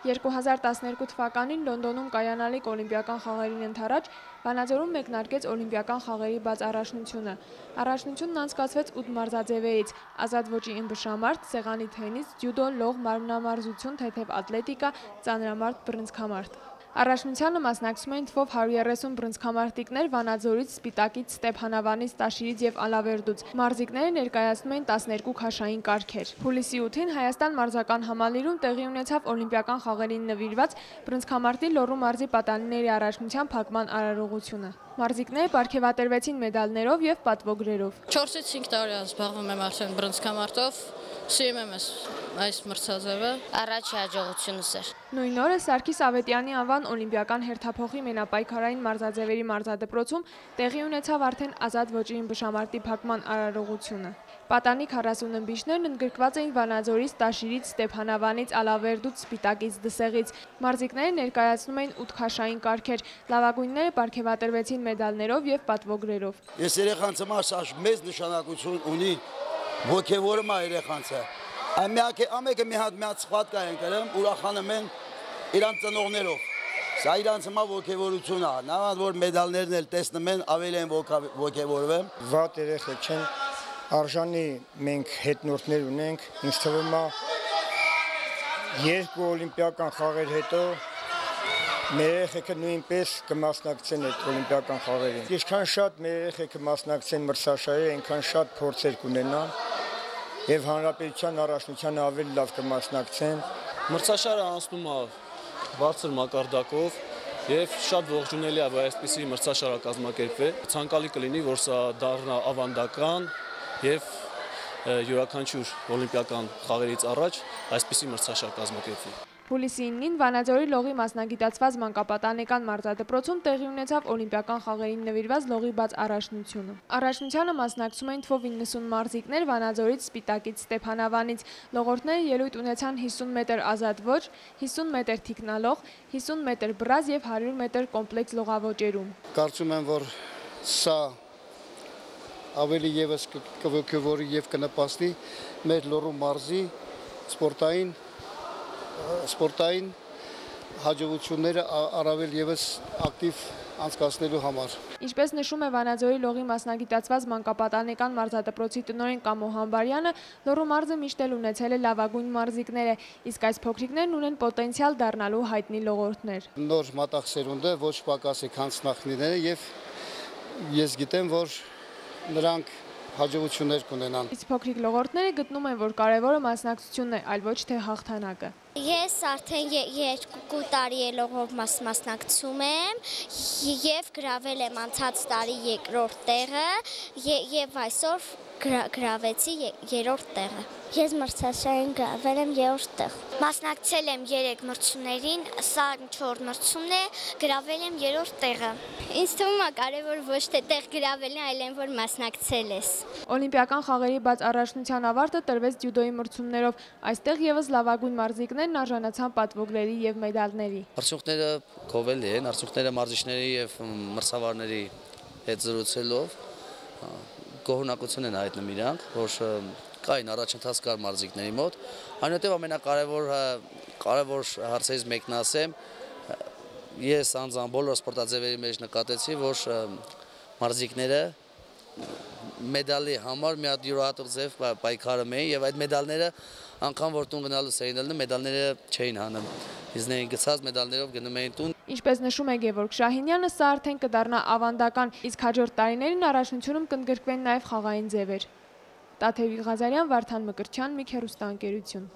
2012 թվականին Լոնդոնում կայանալիք օլիմպիական խաղերին ընդառաջ Վանաձորում մեկնարկեց օլիմպիական խաղերի բաց առաջնությունը։ Առաջնությունն անցկացվեց 8 մարզաձևերից՝ ազատ ոճի ըմբշամարտ, սեղանի թենիս, ջյուդո, լող, մարմնամարզություն, թեթև ատլետիկա, ծանրամարտ, բռնցքամարտ։ Առաջնությանը մասնակցում էին թվով 130 բռնցքամարտիկներ Վանաձորից, Սպիտակից, Ստեփանավանից, Տաշիրից եւ Ալավերդուց։ Մարզիկները ներկայացնում էին 12 քաշային կարգեր։ Հուլիսի 8-ին Հայաստան մարզական համալիրում տեղի ունեցավ օլիմպիական խաղերին նվիրված բռնցքամարտի Լոռու մարզի պատանիների առաջնության փակման արարողությունը։ Մարզիկները պարգևատրվեցին մեդալներով եւ պատվոգրերով։ 4-ից 5 տարի զբաղվում եմ արդեն բռնցքամարտով, սիրում եմ այս մրցաձևը, առաջի հաջողությունս էր։ Նույն օրը Սարգիս Ավետյանի անվան օլիմպիական հերթափոխի մենապայքարային մարզաձևերի մարզադպրոցում տեղի ունեցավ արդեն ազատ ոճի ըմբշամարտի փակման արարողությունը։ Պատանի 40 ըմբիշներն ընդգրկված էին Վանաձորից, Տաշիրից, Ստեփանավանից, Ալավերդուց, Սպիտակից, Դսեղից։ Մարզիկները ներկայացնում էին 8 քաշային կարգեր։ Լավագույնները պարգևատրվեցին մեդալներով եւ պատվոգրերով։ Ես երեխանց համար մեծ նշանակություն ունի ոգևորում է երեխանցը։ Ամեկը մի հատ սխվատկա են կրում, ուրախանում են իրանց ծնողներով։ Սա իրանց համար ոգևորություն է։ Նավան որ մեդալներն էլ տեսնում են, ավելի են ոգևորվում։ Վատ երեխեք չեն, արժանի մենք հետնորդներ ունենք, ինձ թվում է երկու օլիմպիական խաղեր հետո մեր երեխեքը նույնպես կմասնակցեն այդ օլիմպիական խաղերին։ Ինչքան շատ մեր երեխեքը մասնակցեն մրցաշարի, այնքան շատ փորձեր կունենան եւ հանրապետության առաջնությանը ավելի լավ կմասնակցեն։ Մրցաշարը անցնում է բարձր մակարդակով եւ շատ ողջունելի է, որ այսպիսի մրցաշար կազմակերպվի։ Ցանկալի կլինի, որ սա դառնա ավանդական եւ յուրաքանչյուր օլիմպիական խաղերից առաջ այսպիսի մրցաշար կազմակերպվի։ Հուլիսի 9-ին Վանաձորի լողի մասնագիտացված մանկապատանեկան մարզադպրոցում տեղի ունեցավ օլիմպիական խաղերին նվիրված լողի բաց առաջնությունը։ Առաջնությանը մասնակցում էին թվով 90 մարզիկներ Վանաձորից, Սպիտակից, Ստեփանավանից։ Լողորդները ելույթ ունեցան 50 մետր ազատ ոճ, 50 մետր թիկնալող, 50 մետր բրազ եւ 100 մետր կոմպլեքս լողավոճերում։ Կարծում եմ, որ սա ավելի եւս կողքեվորի եւ կնպաստի մեր Լոռու մարզի սպորտային հաջողությունները առավել եւս ակտիվ անցկացնելու համար։ Ինչպես նշում է Վանաձորի լողի մասնագիտացված մանկապատանեկան մարզադպրոցի տնօրեն Կամո Համբարյանը, Լոռու մարզը միշտ էլ ունեցել է լավագույն մարզիկներ, իսկ այս փոքրիկներն ունեն պոտենցիալ դառնալու հայտնի լողորդներ։ Նոր մատաղ սերունդը ոչ պակաս է քան նախնիները եւ ես գիտեմ, որ նրանք հաջողություններ կունենան։ Իսկ փոքրիկ լողորդները գտնում են, որ կարևորը մասնակցությունն է, այլ ոչ թե հաղթանակը։ Ես արդեն 2 տարի լողով մասնակցում եմ եւ գրավել եմ անցած տարի 2-րդ տեղը եւ այսօր գրավեցի 3-րդ տեղը։ Ես մրցաշարին գրավել եմ 3-րդ տեղ։ Մասնակցել եմ 3 մրցումներին, սա 4 մրցումն է, գրավել եմ 3-րդ տեղը։ Ինձ թվում է կարևոր ոչ թե տեղ գրավելն է, այլ այն որ մասնակցել ես։ Օլիմպիական խաղերի բաց առաջնության ավարտը տրվեց ջյուդոյի մրցումներով։ Այստեղ եւս լավագույն մարզիկներն արժանացան պատվոգրերի եւ մեդալների։ Արդյունքները գովելի են, արդյունքները մարզիչների եւ մրցավարների հետ զրուցելով գոհունակություն են հայտնում իրանք, որ կային առաջընթաց կար մարզիկների մոտ։ Այնուհետև ամենակարևոր հարցերից մեկն ասեմ, ես անձամբ բոլոր սպորտաձևերի մեջ նկատեցի, որ մարզիկները մեդալի համար մի հատ յուրահատուկ ձև պայքարում էին եւ այդ մեդալները անգամ որ տուն գնալուց էին ելնում, մեդալները չէին հանում։ Իզներին գցած մեդալներով գնում էին տուն։ Ինչպես նշում է Գևորգ Շահինյանը, սա արդեն կդառնա ավանդական, իսկ հաջորդ տարիներին առաջնությունում կընդգրկվեն նաև խաղային ձևեր։ Տաթևիկ Ղազարյան, Վարդան Մկրտչյան, Միք հեռուստաընկերություն։